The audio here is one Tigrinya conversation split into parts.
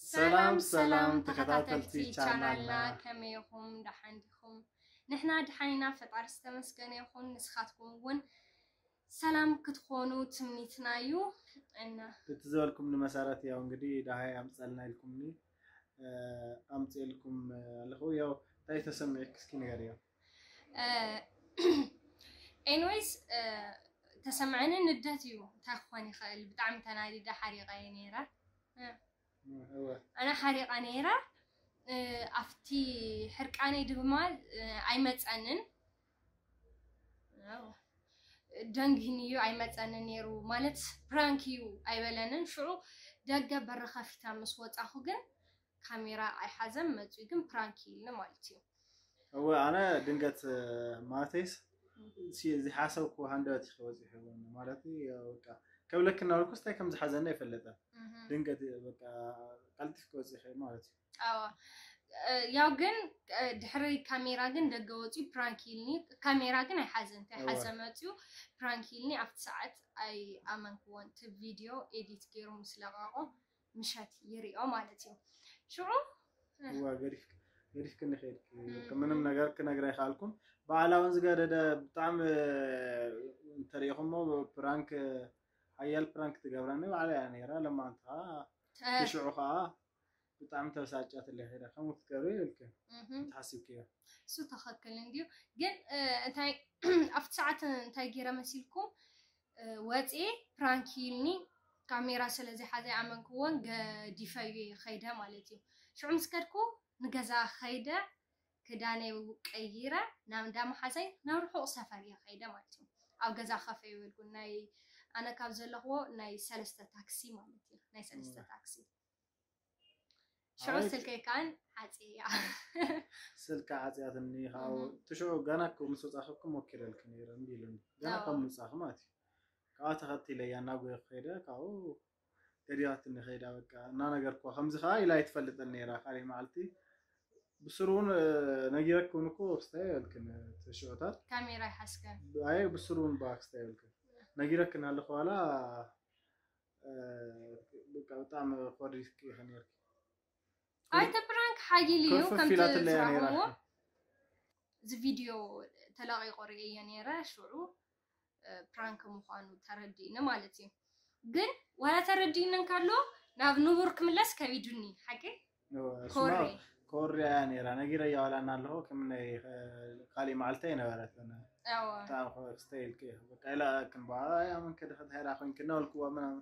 ሰላም ሰላም ተኸታተልቲ ቻናልና፣ ከመይ ኢኹም? ደሓን ዲኹም? ንሕና ደሓን ኢና፣ ፈጣሪ ዝተመስገነ ይኹን። ንስኻትኩም እውን ሰላም ክትኾኑ ትምኒትና እዩ። እና እቲ ዝበልኩም ንመሰረት ያው እንግዲህ ደሃይ ኣምፀልና ኢልኩምኒ ኣምፅልኩም ኣለኹ። ያው እንታይ ተሰሚዕክ እስኪ ንገርዮ። ኤኒዌይስ ተሰምዐኒ ንደት እዩ። እንታይ ክኾን ይኽእል? ብጣዕሚ ተናዲደ፣ ሓሪቐ እየ ነይረ። ኣነ ሓሪቐ ነይረ። ኣብቲ ሕርቃነይ ድማ ኣይመፀንን። ደንጊኒ እዩ፣ ኣይመፀንን ነይሩ ማለት ፕራንክ እዩ ኣይበለንን። ሽዑ ደገ በሪ ከፊታ ምስ ወፃኹ ግን ካሜራ ኣይሓዘን መፅዩ፣ ግን ፕራንክ ኢልኒ ማለት እዩ። እወ፣ ኣነ ድንገት ማለተይስ ዝሓሰብኩ ሃንደበት ይኸ በፂሑ ማለት በቃ ከብለክ እናበልኩ ስታይ ከም ዝሓዘና ይፈለጠ። ድንገት በቃ ቀልጢፍ ክወፅእ ይኽእል ማለት እዩ። ያው ግን ድሕሪ ካሜራ ግን ደገ ወፅዩ ፕራንክ ኢልኒ። ካሜራ ግን ኣይሓዘን፣ እንታይ ሓዘ መፅዩ ፕራንክ ኢልኒ። ኣብቲ ሰዓት ኣይኣመንክዎን። እቲ ቪድዮ ኤዲት ገይሩ ምስ ለቐቖ ምሸት ይሪኦ ማለት እዩ። ሽዑ እዋ ገዲፍክ ገዲፍክኒ ከይድክ ምንም ነገር ክነግራ ይኽኣልኩም። ባዕላ እውን ዝገደደ ብጣዕሚ እንተሪኢኹሞ ፕራንክ ሓያል ፕራንክ ትገብረኒ ባዕላ እያ ነይራ። ለማንታ ሽዑ ከዓ ብጣዕሚ ተበሳጫትለይ ከይዳ ከምኡ ክትገብሪ ይብልክ ትሓሲብክዮ። እሱ ትኽክል እንድዩ። ግን እንታይ ኣብቲ ሰዓት እንታይ ገይረ መሲልኩም ወፅኤ ፕራንክ ኢልኒ ካሜራ ስለዚ ሓዘ ኣመንክዎን ገዲፈዩ ከይደ ማለት እዩ። ሽዑ ምስ ከድኩ ንገዛ ከይደ ክዳነይ ቀይረ ናብ እንዳ መሓዛይ ናብ ርሑቕ ሰፈር እየ ከይደ ማለት እዩ። ኣብ ገዛ ከፈ ይበልኩ ናይ ኣነ ካብ ዘለኽዎ ናይ ሰለስተ ታክሲ ማለት እዩ። ናይ ሰለስተ ታክሲ ሽዑ ስልከይ ከዓን ዓፅያ ስልካ ዓፅያትኒ። ካብኡ እቲ ሽዑ ገና ምስ ወፃኺ እኮ ሞኪረልኪ ነይረ እምቢ ኢሉኒ። ገና ካብ ምውፃኺ ማለት እዩ። ካብኣ ተኸቲለያ እናጎየ ከይደ ካብኡ ገዲፋትኒ ከይዳ በቃ እናነገርኩዋ። ከምዚ ከዓ ኢላ ኣይትፈልጥን ነይራ። ካልእ መዓልቲ ብስሩ እውን ነጊረኪ እውን እኮ ክስታይ ይበልክን እቲ ሽዑታት ካሜራ ይሓዝከ ኣይ ብስሩ እውን ብኣ ክስታይ ይበልክን ነጊረክን ኣለኹ ዋላ በቃ ብጣዕሚ ኮሪፍኪ ኢኺ ነይርኪ። ኣይተ ፕራንክ ሓይሊ እዩ ኮርፍፍ ከምቲ ኢላትለያ ነይራ። ዝረኸብዎ እዚ ቪድዮ ተለቂቑ ርእየ ነይረ። ሽዑ ፕራንክ ምዃኑ ተረዲእኒ ማለት እዩ። ግን ዋላ ተረዲእኒ እንከሎ ናብ ንቡር ክምለስ ከቢዱኒ ሓቂ ኮሪ ኮርያ እያ ነይራ ነጊረያ ዋላ እና ኣለኹ ከም ናይ ካሊእ መዓልቲ ኣይነበረትን። ኣዎ ብጣዕሚ ክስተ ኢልክ በቃ ኢላ ክንባ ኣመን ከደኸት ሃይራ ኮይንክ እናበልክዋ ምናምን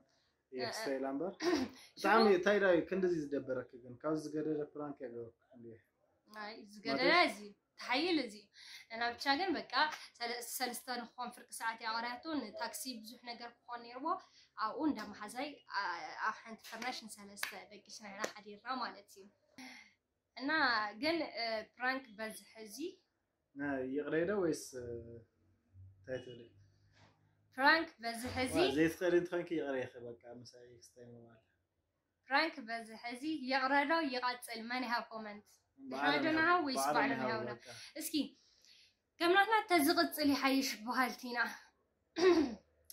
እየ ክስተ ኢላ እምበር ብጣዕሚ እንታይ ዳ እዩ ክንድዚ ዝደበረክ ግን ካብዚ ዝገደደ ፕራንክ ያገበርኩ እንዲ ኣይ ዝገደለ እዚ ተሓይል እዚ እና ብቻ ግን በቃ ሰለ- ሰለስተ ንክኾን ፍርቂ ሰዓት ያቐርያቶ ንታክሲ ብዙሕ ነገር ክኾን ነይርዎ ኣብኡ እንዳ መሓዛይ ኣ- ኣብ ሓንቲ ፍርናሽ ንሰለስተ ደቂስና ኢና ሓዲርና ማለት እዩ እና ግን እ፣ ፕራንክ በዝሕ እዚ ይቕረ ዶ ወይስ እንታይ ትብሊ? ፕራንክ በዝሕ እዚ ዘይትኽእሊ እንትኾንኪ ይቕረ ኢኺ በቃ ምሳይ ክስታይ ምባል ፕራንክ በዝሕ እዚ ይቕረ ዶ ይቐፅል መን ይሃብ ኮመንት ንሕና ዶ ንሃብ ወይስ ባዕሎም ይሃቡና? እስኪ ከም ናትና ተዝቕፅል ይሓይሽ በሃልቲ ኢና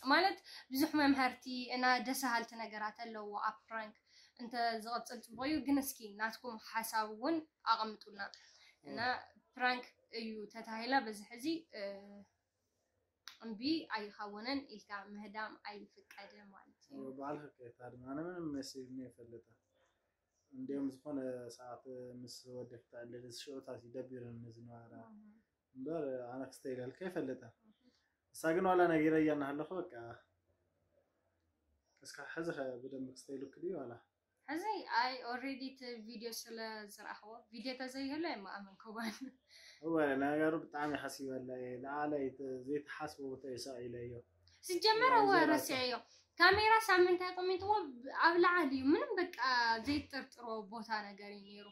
ማለት ብዙሕ መምሃርቲ እና ደስ በሃልቲ ነገራት ኣለዎ ኣብ ፕራንክ እንተ ዝቐፅል ፅቡቕ እዩ ግን እስኪ ናትኩም ሓሳብ እውን ኣቐምጡልና እና ፕራንክ እዩ ተታሂላ በዝሕ እዚ እምቢ ኣይኸውንን ኢልካ ምህዳም ኣይፍቀድን ማለት እዩ። ባዕልኺ ከይታድሚ ኣነ ምንም መሲልኒ ኣይፈልጥን። እንዲኦም ዝኾነ ሰዓት ምስ ወዲ ክተዕልል እዚ ሽዑታት እዩ ደቢሩኒ ዝነበረ እምበር ኣነ ክስተ ኢለልካ ኣይፈልጥን። ንሳ ግን ዋላ ነጊረያ እናሃለኹ በቃ እስካ ሕዚ ኸ ብደንብ ክስተ ኢሉክ ድዩ ዋላ? ሕዚ ኣይ ኦሬዲ እቲ ቪድዮ ስለ ዝረኣኽዎ ቪድዮ ተዘይህሎ የማኣመንክዎን እወ ነገሩ ብጣዕሚ ሓሲበላ እየ ዝዓለ ዘይተሓስቦ ቦታ እዩ ሰቒለዮ ሲጀመር እወ ረሲዐዮ ካሜራ ሳምንት ኣቀሚጥዎ ኣብ ላዓሊ እዩ ምንም በቃ ዘይጠርጥሮ ቦታ ነገር እዩ ነይሩ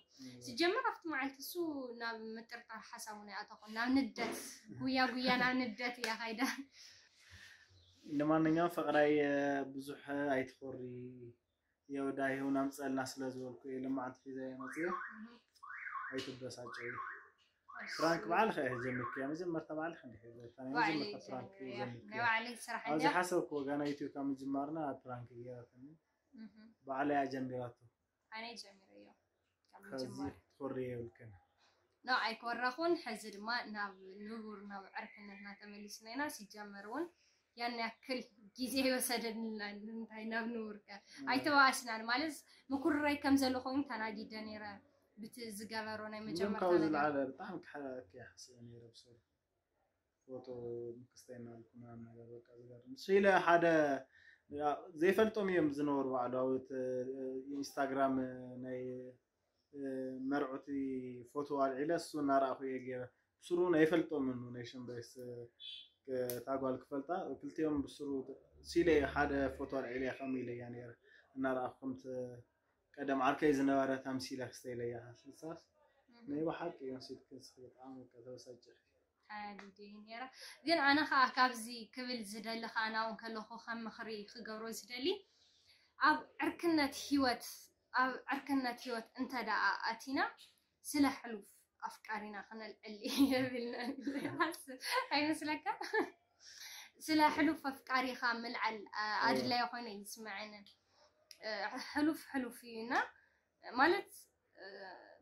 ሲጀመር ኣብቲ መዓልቲ እሱ ናብ ምጥርጣር ሓሳቡ ናይ ኣተኹ ናብ ንደት ጉያ ጉያ ናብ ንደት እያ ካይዳ ንማንኛውም ፍቕራይ ብዙሕ ኣይትኾሪ የወዳሂ እውን ኣምፀልና ስለ ዝበልኩ እየ ልማዓንቲ ሒዘ እየ መፅየ ኣይትበሳጨዩ ፍራንክ ባዕልኸ እየ ጀሚርክያ መጀመርታ ባዕልኸ እንዲ ሒዘታ ናይ መጀመርታ ፍራንክ እዩ ጀሚርክያ ናይ ባዕለይ ስራሕ ኣብዚ እንድያ ሓሰብክዎ ገና ኢትዮ ካብ ምጅማርና ፕራንክ ገይራትኒ ባዕለይ እያ ጀሚራቶ ኣነ ጀሚረዮ ካብ ምጅማር። ትኮርየ የብልክን። ኖ ኣይኮረኹን። ሕዚ ድማ ናብ ንቡር ናብ ዕርክነትና ተመሊስና ኢና። ሲጀመር እውን ያን ያክል ግዜ ይወሰደንና እንታይ ናብ ንቡር ከ ኣይተባኣስናን። ማለት ምኩርራይ ከም ዘሎ ኮይኑ ተናጊደ ነይረ ብቲ ዝገበሮ ናይ መጀመርታ ነገር። ዝለዓለ ብጣዕሚ ክሓለለኪ እየ ሓሲበ ነይረ ብሰሩ ፎቶ ምክስታይ እናልኩ ምናምን ነገር በቃ ዝገርም እሱ ኢለ ሓደ ዘይፈልጦም እዮም ዝነበሩ ባዕሉ ኣብ ኢንስታግራም ናይ መርዑቲ ፎቶ ኣልዒለ እሱ እናረኣኹ እየ ገይረ ብስሩ ኣይፈልጦምን ናይ ሸምበይስ ታጓል ክፈልጣ ክልቲኦም ብስሩ ሲለ ሓደ ፎቶ ኣልዒለ ከም ኢለያ ነይረ እናረኣኹ ከምቲ ቀደም ዓርከይ ዝነበረ ተምሲለ ክስተ ኢለያ ስልሳስ ናይ ብሓቂ እዮም ሲልክን ስክ በጣም ተበሳጭ ተናዲደ ነይረ። ግን ኣነ ከዓ ካብዚ ክብል ዝደሊ ከዓ ናውን ከለኹ ከም ምኽሪ ክገብሮ ዝደሊ ኣብ ዕርክነት ህይወት ኣብ ዕርክነት ህይወት እንተ ደኣ ኣቲና ስለ ሕሉፍ ኣፍቃሪና ክነልዕል የብልና ኣይመስለካ? ስለ ሕሉፍ ኣፍቃሪኻ ምልዓል ኣድላይ ኮይነ ይስምዐኒ። ሕሉፍ ሕሉፍ እዩ እና ማለት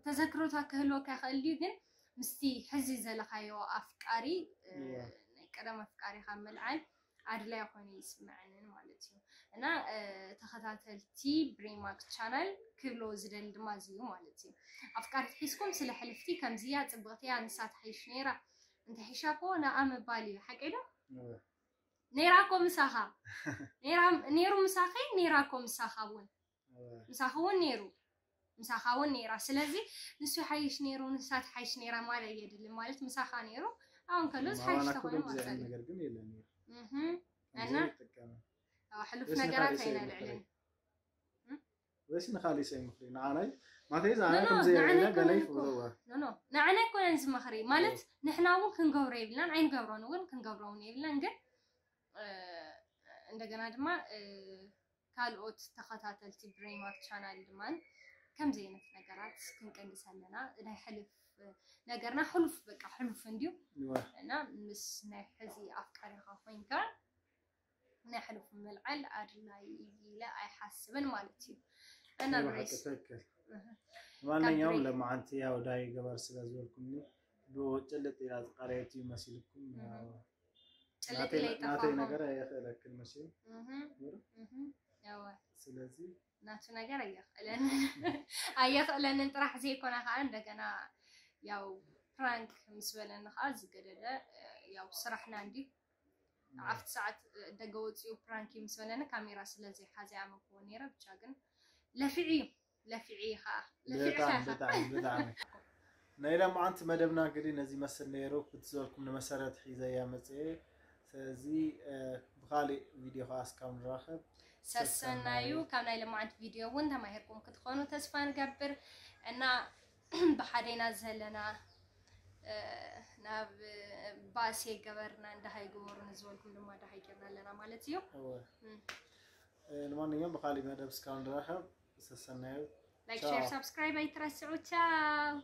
ተዘክሮታት ክህልወካ ይኽእል ድዩ ግን ምስቲ ሕዚ ዘለኻዮ ኣፍቃሪ ናይ ቀደም ኣፍቃሪኻ ምልዓል ኣድላይ ኮይኑ ይስምዐንን ማለት እዩ እና ተኸታተልቲ ብሬማክ ቻናል ክብሎ ዝደሊ ድማ እዚ እዩ ማለት እዩ ኣፍቃሪት ሒዝኩም ስለ ሕልፍቲ ከምዚያ ፅብቕትያ ንሳ ትሓይሽ ነይራ እንተ ሒሻ ኮ ንኣ ምባል እዩ ሓቂ ዶ ነይራ ኮ ምሳኻ ነይሩ ምሳኸ ነይራ ኮ ምሳኻ እውን ምሳኻ እውን ነይሩ ምሳኻ እውን ነይራ ስለዚ ንሱ ሓይሽ ነይሩ ንሳ ትሓይሽ ነይራ ማለት የድልን ማለት ምሳኻ ነይሩ ኣሁን ከሎ ዝሓይሽ ተኾይኑ ማለት ነገር ግን የለን እና ሕሉፍ ነገራት ኣይነልዕልን ወይስ ንኻሊእ ሰብ ምኽሪ ንዓናይ ማተይ ዝዓነ ከምዘየለ ገለ ይፍረዋ ንዓናይ ኮነን ዝመኽሪ ማለት ንሕና እውን ክንገብሮ የብልናን ኣይንገብሮን እውን ክንገብሮ እውን የብልናን ግን እንደገና ድማ ካልኦት ተኸታተልቲ ብሬማክ ቻናል ድማ ከምዚ ዓይነት ነገራት ክንቀንስ ኣለና ናይ ሕልፍ ነገርና ሕሉፍ በቃ ሕሉፍ እንድዩ እና ምስ ናይ ሕዚ ኣፍቃሪኻ ኮይንካ ናይ ሕሉፍ ምልዓል ኣድላይ ኢለ ኣይሓስብን ማለት እዩ እና ብሬስ ትክክል ማንኛውም ለማዓንቲ ያው ዳይ ገበር ስለ ዝበልኩምኒ ብጭልጥ ኢላ ዝቃረየት እዩ መሲልኩም ጭልጥ ኢለ ናተይ ነገር ኣየኽእለክን መሲሉ ስለዚ ናቱ ነገር ኣየኽእለንን ኣየኽእለንን ጥራሕ ዘይኮነ ከዓ እንደገና ያው ፕራንክ ምስ በለኒ ከዓ ዝገደደ ያው ስራሕና እንዲ ኣብቲ ሰዓት ደገ ወፂኡ ፕራንክ ምስ በለኒ ካሜራ ስለዘይሓዘ ኣመክዎ ነይረ ብቻ ግን ለፊዑ እዩ ለፊዑ እዩ ከዓ ለፊዑ ብጣዕሚ ብጣዕሚ ናይ ለማዓንቲ መደብና እንግዲህ ነዚ መስል ነይሩ ክትዘልኩም ንመሰረት ሒዘ እያ መፅኤ ስለዚ ብካሊእ ቪድዮ ከዓ እስካብ ንራኸብ ሰሰናዩ ካብ ናይ ለማዓንቲ ቪድዮ እውን ተማሂርኩም ክትኾኑ ተስፋ ንገብር እና ብሓደና ዘለና ናብ ባእሲ ገበርና እንዳሃይ ግበሩ ንዝበልኩም ድማ እንዳሃይ ገርና ኣለና ማለት እዩ ንማንኛውም ብካሊእ መደብ እስካብ ንራኸብ ሰሰናዩ ላይክ ሼር ሳብስክራይብ ኣይትረስዑ ቻው